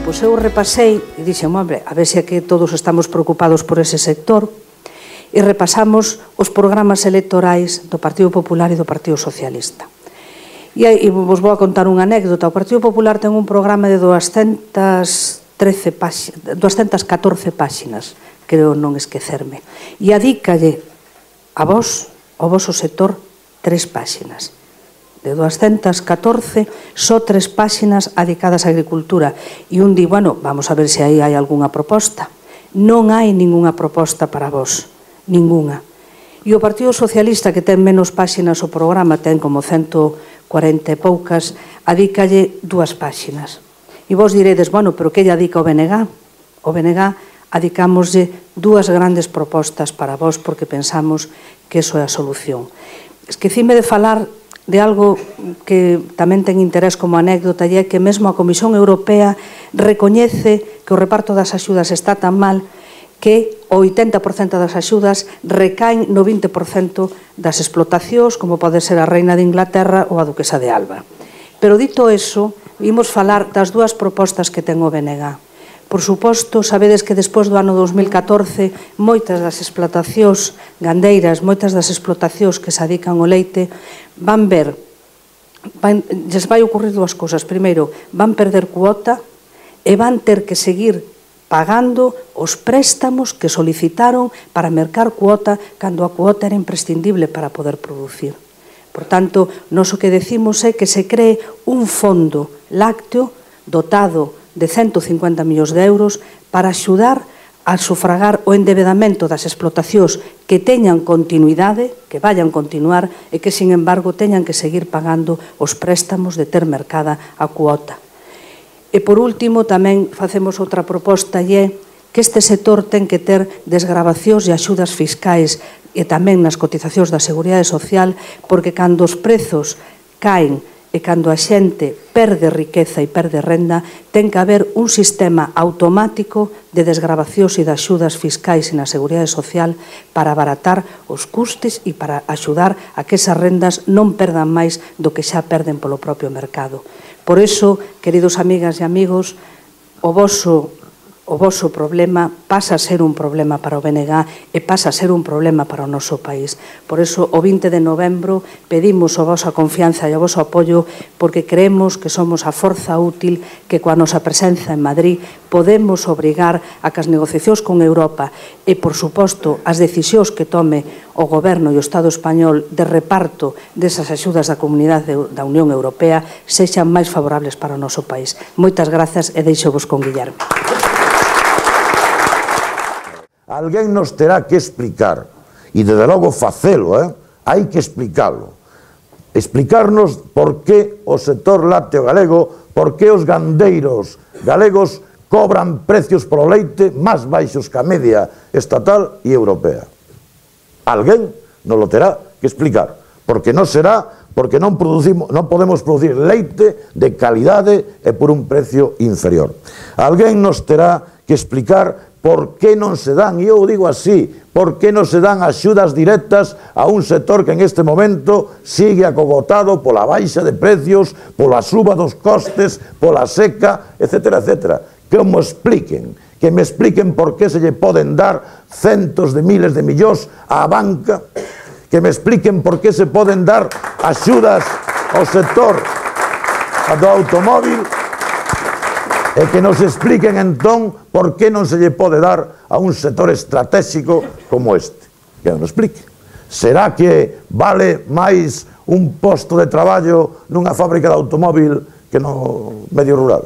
pois eu repasei e dixen, hombre, a ver se é que todos estamos preocupados por ese sector, e repasamos os programas electorais do Partido Popular e do Partido Socialista. E vos vou a contar unha anécdota. O Partido Popular ten un programa de 214 páxinas, creo non esquecerme, e adícalle a vos, ao voso sector, 3 páxinas. De 214, só 3 páxinas adicadas á agricultura. E un di, bueno, vamos a ver se aí hai algunha proposta. Non hai ningunha proposta para vos, ningunha. E o Partido Socialista, que ten menos páxinas o programa, ten como 140 e poucas, adícalle 2 páxinas. E vos diredes, bueno, pero que lle adica o BNG? O BNG adicámoslle 2 grandes propostas para vos porque pensamos que iso é a solución. Esquecime de falar de algo que tamén ten interés como anécdota, e é que mesmo a Comisión Europea recoñece que o reparto das axudas está tan mal que o 80% das axudas recaen no 20% das explotacións, como pode ser a Reina de Inglaterra ou a Duquesa de Alba. Pero dito eso, vimos falar das 2 propostas que ten o BNG. Por suposto, sabedes que despois do ano 2014 moitas das explotacións gandeiras, moitas das explotacións que se adican ao leite van ver, lles vai ocurrir 2 cousas. Primeiro, van perder cuota e van ter que seguir pagando os préstamos que solicitaron para mercar cuota cando a cuota era imprescindible para poder producir. Por tanto, nós o que decimos é que se cree un fondo lácteo dotado de 150 millóns de euros para axudar a sufragar o endebedamento das explotacións que teñan continuidade, que vayan continuar e que, sin embargo, teñan que seguir pagando os préstamos de ter mercada a cuota. E, por último, tamén facemos outra proposta e é que este sector ten que ter desgravacións e axudas fiscais e tamén nas cotizacións da Seguridade Social, porque cando os prezos caen e cando a xente perde riqueza e perde renda, ten que haber un sistema automático de desgravacións e de axudas fiscais e na Seguridade Social para abaratar os custes e para axudar a que esas rendas non perdan máis do que xa perden polo propio mercado. Por iso, queridos amigas e amigos, o voso problema pasa a ser un problema para o BNG e pasa a ser un problema para o noso país. Por iso, o 20 de novembro pedimos a vosa confianza e o voso apoio porque creemos que somos a forza útil que coa nosa presenza en Madrid podemos obrigar a que as negociacións con Europa e, por suposto, as decisións que tome o Goberno e o Estado español de reparto desas axudas da Comunidade da Unión Europea sexan máis favorables para o noso país. Moitas grazas e deixo-vos con Guillermo. Alguén nos terá que explicar, e desde logo facelo, hai que explicalo. Explicarnos por que o sector lácteo galego, por que os gandeiros galegos cobran precios polo leite máis baixos que a media estatal e europea. Alguén nos lo terá que explicar, porque non será porque non podemos producir leite de calidade e por un precio inferior. Alguén nos terá que explicar por que non se dan, e eu digo así, por que non se dan axudas directas a un sector que en este momento sigue acogotado pola baixa de precios, pola suba dos costes, pola seca, etcétera, etcétera. Que me expliquen por que se lle poden dar centos de miles de millóns á banca, que me expliquen por que se poden dar axudas ao sector do automóvil, e que nos expliquen entón por que non se lle pode dar a un sector estratégico como este. Que non explique. Será que vale máis un posto de traballo nunha fábrica de automóvil que no medio rural?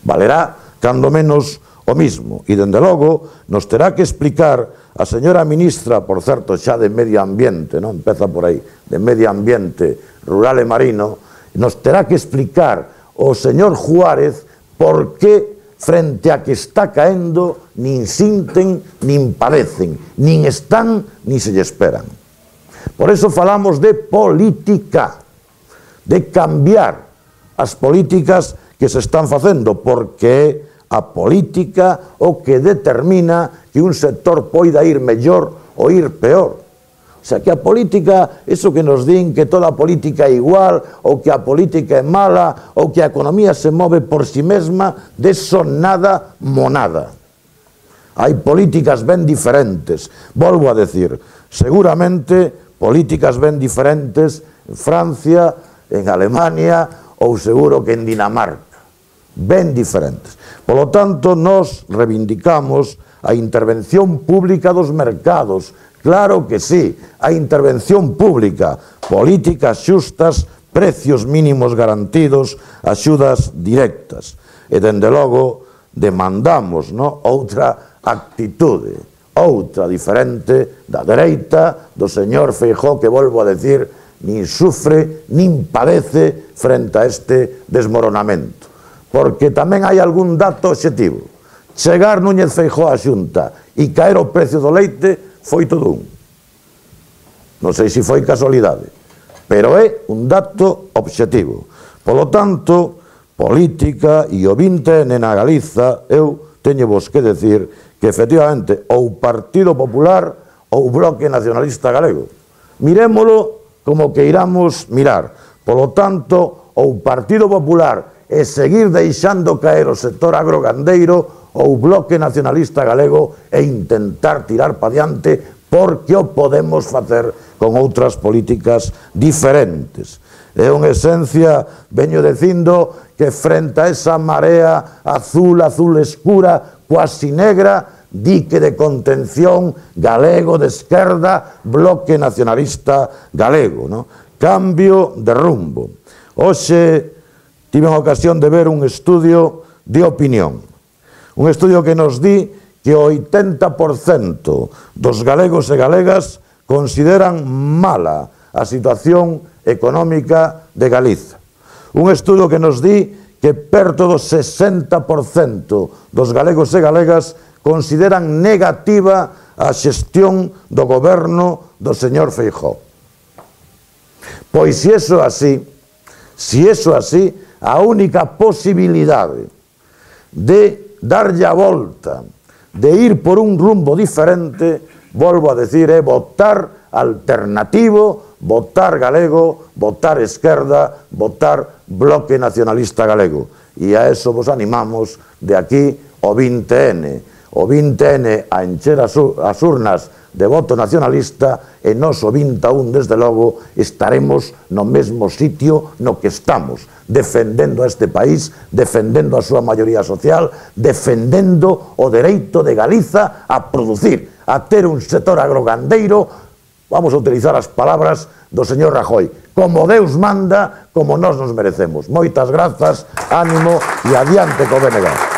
Valerá, cando menos, o mismo. E, dende logo, nos terá que explicar a señora ministra, por certo, xa de Medio Ambiente, non empeza por aí, de Medio Ambiente Rural e Marino, nos terá que explicar o señor Juárez por que frente a que está caendo nin sinten, nin padecen, nin están, nin se lle esperan. Por eso falamos de política, de cambiar as políticas que se están facendo, porque é a política o que determina que un sector poida ir mellor ou ir peor. O sea, que a política, eso que nos din que toda a política é igual, ou que a política é mala, ou que a economía se move por si mesma, de eso nada monada. Hai políticas ben diferentes. Volvo a decir, seguramente políticas ben diferentes en Francia, en Alemania, ou seguro que en Dinamarca. Ben diferentes. Por lo tanto, nos reivindicamos a intervención pública dos mercados. Claro que sí, a intervención pública, políticas xustas, precios mínimos garantidos, axudas directas. E, dende logo, demandamos outra actitude, outra diferente da dereita do señor Feijóo, que, volvo a decir, nin sufre, nin padece frente a este desmoronamento. Porque tamén hai algún dato obxectivo. Chegar Núñez Feijóo á Xunta e caer o precio do leite foi todo un. Non sei se foi casualidade, pero é un dato obxectivo. Polo tanto, política e o 20N na Galiza, eu teño vos que decir que efectivamente ou Partido Popular ou Bloque Nacionalista Galego. Mirémolo como que iramos mirar. Polo tanto, ou Partido Popular e seguir deixando caer o sector agrogandeiro, ou Bloque Nacionalista Galego e intentar tirar pa diante, porque o podemos facer con outras políticas diferentes. En esencia, veño dicindo que frente a esa marea azul, azul escura, cuasi negra, dique de contención galego de esquerda, Bloque Nacionalista Galego, cambio de rumbo. Hoxe tive a ocasión de ver un estudio de opinión, un estudio que nos di que o 80% dos galegos e galegas consideran mala a situación económica de Galiza. Un estudio que nos di que perto do 60% dos galegos e galegas consideran negativa a xestión do goberno do señor Feijóo. Pois se iso así, a única posibilidade de darlle a volta, de ir por un rumbo diferente, volvo a decir, é votar alternativo, votar galego, votar esquerda, votar Bloque Nacionalista Galego. E a eso vos animamos de aquí o 20N. O 20N a encher as urnas de voto nacionalista, e nos o 21, desde logo, estaremos no mesmo sitio no que estamos, defendendo a este país, defendendo a súa maioría social, defendendo o dereito de Galiza a producir, a ter un sector agrogandeiro, vamos a utilizar as palabras do señor Rajoy, como Deus manda, como nós nos merecemos. Moitas grazas, ánimo e adiante co BNG.